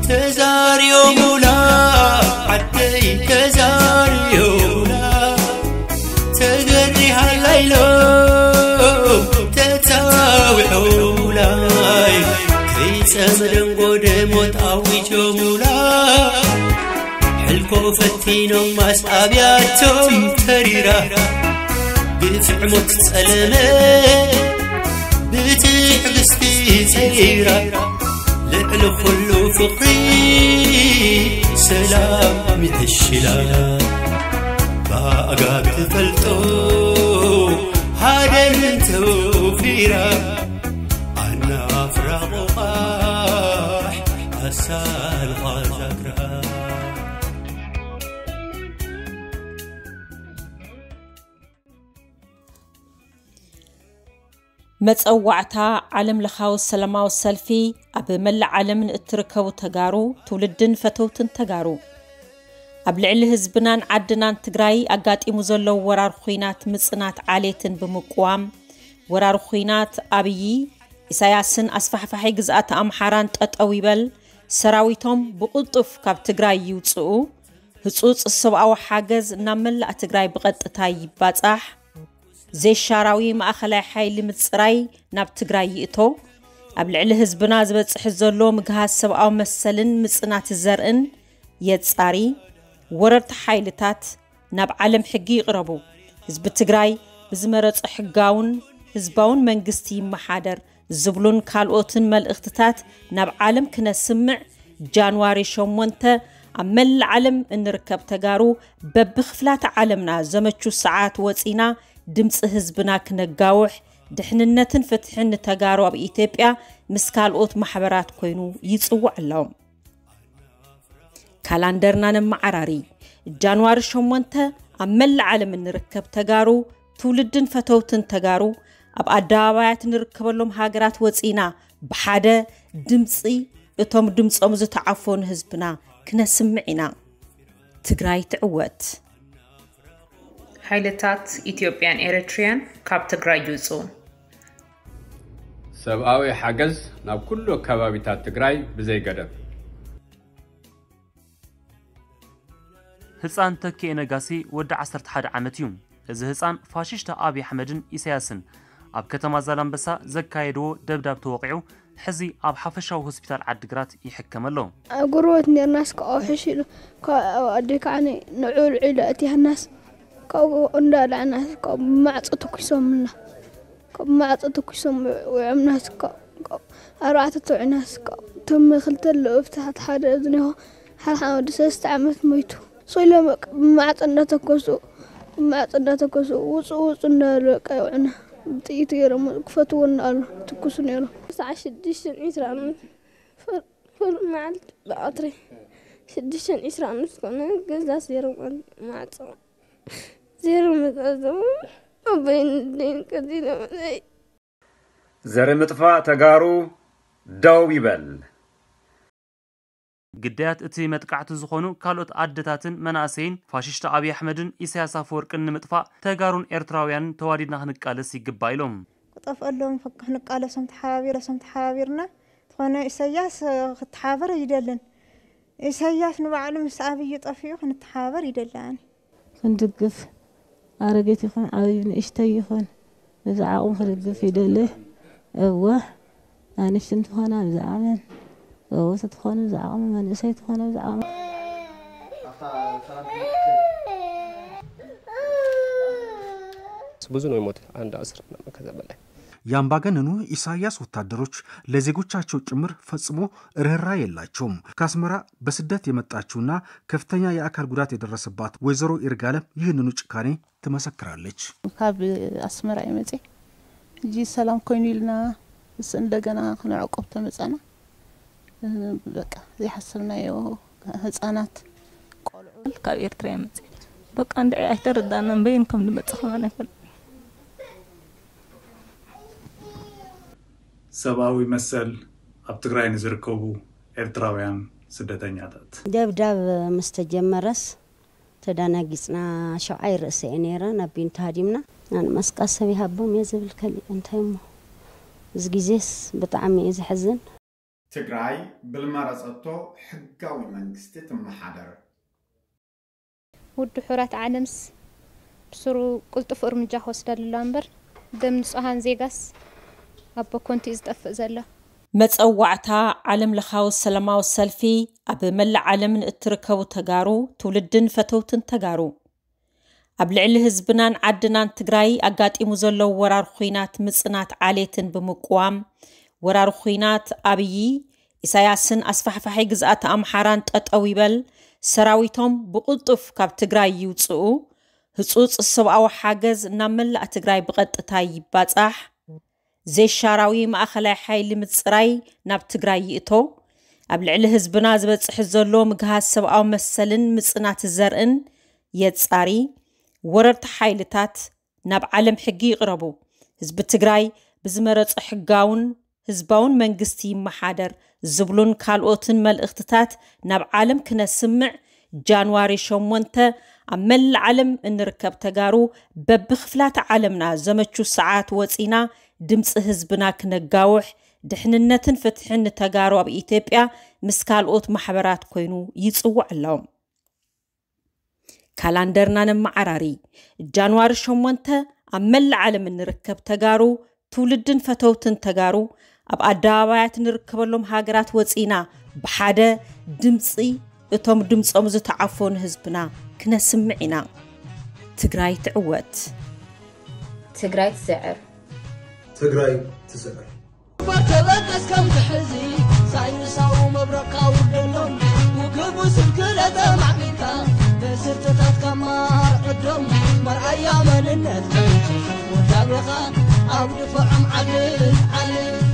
ተዛርዮሙላ ዓደይ ተዛርዮሙላ ተገሪሃላ ኢሎም ተጻዊዖሙላይ ከይጸምደን ጎደ ሞት ኣዊጆሙላ ሕልኮ ፈቲኖም ማስኣብያቶም ተሪራ ግፍዕ ሞት ጸለመ ብትዕግስቲ ጸይራ ልዕሊ ኩሉ ፍቕሪ ሰላም ይሕሽላ ብኣጋግ ትፈልጦ ሃደን ተውፊራ ኣናፍራ ቑቓሕ ኣሳልኻ ዛግራ መጸዋዕታ ዓለም ለኻዊ ሰላማዊ ሰልፊ ኣብ መላእ ዓለም ንእትርከቡ ተጋሩ ትውልድን ፈተውትን ተጋሩ ኣብ ልዕሊ ህዝብናን ዓድናን ትግራይ ኣጋጢሙ ዘሎ ወራር ኹናት ምጽናት ዓሌትን ብምቅዋም ወራር ኹናት ኣብዪ ኢሳያስን ኣስፋሕፋሒ ግዝኣት ኣምሓራን ጠጠው ይበል ሰራዊቶም ብቕልጡፍ ካብ ትግራይ ይውፅኡ ህፁፅ ሰብኣዊ ሓገዝ ናብ መላእ ትግራይ ብቐጥታ ይባፃሕ ዘይሻራዊ ማእኸላይ ሓይሊ ምፅራይ ናብ ትግራይ ይእቶ ኣብ ልዕሊ ህዝብና ዝበፅሕ ዘሎ ምግሃስ ሰብኣዊ መሰልን ምፅናት ዘርእን የፃሪ ወረርቲ ሓይልታት ናብ ዓለም ሕጊ ይቕረቡ ህዝቢ ትግራይ ብዝመረፆ ሕጋውን ህዝባውን መንግስቲ ይመሓደር ዝብሉን ካልኦትን መልእኽትታት ናብ ዓለም ክነስምዕ ጃንዋሪ ሸሞንተ ኣብ መላእ ዓለም እንርከብ ተጋሩ በብኽፍላተ ዓለምና ዘመቹ ሰዓት ወፂና ድምፂ ህዝብና ክነጋውሕ ድሕንነትን ፍትሕን ንተጋሩ ኣብ ኢትዮጵያ ምስ ካልኦት ማሕበራት ኮይኑ ይፅውዕ ኣሎ። ካላንደርና ነመዓራሪ ጃንዋሪ ሸሞንተ ኣብ መላእ ዓለም እንርከብ ተጋሩ ትውልድን ፈተውትን ተጋሩ ኣብ ኣደባባያት ንርከበሎም ሃገራት ወፂና ብሓደ ድምፂ እቶም ድምፆም ዝተዓፈኑ ህዝብና ክነስምዕ ኢና። ትግራይ ትዕወት። ሓይልታት ኢትዮጵያን ኤሪትሪያን ካብ ትግራይ ይውፅኡ። ሰብኣዊ ሓገዝ ናብ ኩሉ ከባቢታት ትግራይ ብዘይ ገደብ። ህፃን ተኪኤ ነጋሲ ወዲ ዓሰርተ ሓደ ዓመት እዩ። እዚ ህፃን ፋሽሽቲ ኣብይ ኣሕመድን ኢሳያስን ኣብ ከተማ ዛላምበሳ ዘካየድዎ ደብዳብ ተወቒዑ ሕዚ ኣብ ሓፈሻዊ ሆስፒታል ዓዲግራት ይሕከም ኣሎ። ኣብ ጎረቤት ኔርናስ ካብኡ ሕሽ ኢሉ ካብ ኣደይ ከዓ ንዑ ልዑ ኢሉ ኣእቲያናስ ካብኡ እንዳልዐናስ ካብ ማዕፆ ተኩሶምልና ካብ ማዕፆ ተኩሶም ውዕምናስ ካብ ኣርባዕተ ተውዒናስ ካብ ተመ ክልተ ኣለዉ ኣብቲ ሓደ ዝኒሆ ሓደ ሓደ ወዲ ሰለስተ ዓመት ሞይቱ። ሶሎም ብማዕፆ እንዳተኮሱ ብማዕፆ እንዳተኮሱ ውፁ ውፁ እንዳበሉ በቃ ይውዕና ብጥይት ገይሮም ክፈትዎ እንዳበሉ ትኩሱ ነይሮም። ሰዓት ሽዱሽተን ዒስራን ኣምስት ፍር ፍር መዓልቲ ብቐትሪ ሽዱሽተን ዒስራን ኣምስት ኮነ ገዛ ዜሮ ማዕፆ ዜሮ መዛዘሙ ኣቦይን ኣደይን ቀቲሎምለይ። ዘር ምጥፋእ ተጋሩ ደው ይበል። ግዳያት እቲ መጥቃዕቲ ዝኾኑ ካልኦት ኣደታትን መናእሰይን ፋሽስት ኣብይ ኣሕመድን ኢሳያስ ኣፈወርቅን ንምጥፋእ ተጋሩን ኤርትራውያንን ተዋዲድና ክንቃለስ ይግባእ ኢሎም። ክጠፍኣሎም ክንቃለሶም ተሓባቢረሶም ተሓባቢርና ዝኾነ ኢሳያስ ክተሓባበር ኣይደልን። ኢሳያስ ንባዕሉ ምስ ኣብይ ጠፊኡ ክንተሓባበር ይደሊ ኣነ። ክንድግፍ ኣረጊት ይኹን ዓብዩ ንእሽተይ ይኹን ብዝዓቕሙ ክድግፍ ይደሊ። እወ ኣንሽቲ እንትኾና ብዝዓቕመን ጎበዝ እንትኾኑ ብዝዓቕሙ መንእሰይ እንትኾነ ብዝዓቕሙ። ብዙ ነው የሞተ አንድ አስር ምናምን ከዛ በላይ። የአምባገነኑ ኢሳያስ ወታደሮች ለዜጎቻቸው ጭምር ፈጽሞ ርህራሄ የላቸውም። ከአስመራ በስደት የመጣችውና ከፍተኛ የአካል ጉዳት የደረሰባት ወይዘሮ ይርጋለም ይህንኑ ጭካኔ ትመሰክራለች። ካብ ኣስመራ እየ መፅየ ሕጂ ሰላም ኮይኑ ኢልና ምስ እንደገና ክንዕቆብ ተመፃና በቃ ዘይሓሰብናዮ ህፃናት ቆልዑ ካብ ኤርትራ እየ መፅየ በቃ እንድዒ ኣይተረዳእናን በየን ከም ንመፅእ ከማን ኣይፈልጥን። ሰብኣዊ መሰል ኣብ ትግራይ ንዝርከቡ ኤርትራውያን ስደተኛታት። ደብዳብ ምስ ተጀመረስ ተዳናጊጽና ሸውዓይ ርእሲ እየ ነይረ ናብ ቢንቶ ሃዲምና። ኣነ መስቃ ሰብ ይሃቦም እየ ዝብል ከሊእ እንታይ እሞ እዚ ግዜስ ብጣዕሚ እዩ ዘሕዝን። ትግራይ ብልመረጸቶ ሕጋዊ መንግስቲ ትመሓደር። ውድሑራት ዓለምስ ብስሩ ቅልጡፍ እርምጃ ክወስደሉ ኣለዋ እምበር ደም ንጹሃን ዜጋስ ኣብ በኮንቱ እዩ ዝጠፍእ ዘሎ። መጸዋዕታ ዓለም ለኻዊ ሰላማዊ ሰልፊ ኣብ መላእ ዓለም ንእትርከቡ ተጋሩ ትውልድን ፈተውትን ተጋሩ ኣብ ልዕሊ ህዝብናን ዓድናን ትግራይ ኣጋጢሙ ዘሎ ወራር ኹናት ምጽናት ዓሌትን ብምቅዋም ወራር ኹናት ኣብዪ ኢሳያስን ኣስፋሕፋሒ ግዝኣት ኣምሓራን ጠጠው ይበል፣ ሰራዊቶም ብቕልጡፍ ካብ ትግራይ ይውፅኡ፣ ህፁፅ ሰብኣዊ ሓገዝ ናብ መላእ ትግራይ ብቐጥታ ይባፃሕ፣ ዘይሻራዊ ማእኸላይ ሓይሊ ምፅራይ ናብ ትግራይ ይእቶ፣ ኣብ ልዕሊ ህዝብና ዝበፅሕ ዘሎ ምግሃስ ሰብኣዊ መሰልን ምፅናት ዘርእን የፃሪ፣ ወረርቲ ሓይልታት ናብ ዓለም ሕጊ ይቕረቡ፣ ህዝቢ ትግራይ ብዝመረፆ ሕጋውን ህዝባውን መንግስቲ ይመሓደር ዝብሉን ካልኦትን መልእኽትታት ናብ ዓለም ክነስምዕ ጃንዋሪ ሸሞንተ ኣብ መላእ ዓለም እንርከብ ተጋሩ በብክፍላተ ዓለምና ዘመቹ ሰዓት ወፂና ድምፂ ህዝብና ክነጋውሕ ድሕንነትን ፍትሕን ንተጋሩ ኣብ ኢትዮጵያ ምስ ካልኦት ማሕበራት ኮይኑ ይፅውዕ ኣሎ። ካላንደርና ነመዓራሪ። ጃንዋሪ ሸሞንተ ኣብ መላእ ዓለም እንርከብ ተጋሩ ትውልድን ፈተውትን ተጋሩ ኣብ ኣደባባያት ንርከበሎም ሃገራት ወፂና ብሓደ ድምፂ እቶም ድምፆም ዝተዓፈኑ ህዝብና ክነስምዕ ኢና። ትግራይ ትዕወት። ትግራይ ትስዕር። ትግራይ ትስዕር። ተበገስ ከም ትሕዚ ሳይንሳዊ መብረቕ ካውርደሎም ውግብ ስልክለ ተማዕቢልካ በስርትታት ካማር ዕዶም መርኣያ መንነት ወዳቤኻ ኣብ ድፍዖም ዓድል ዓድል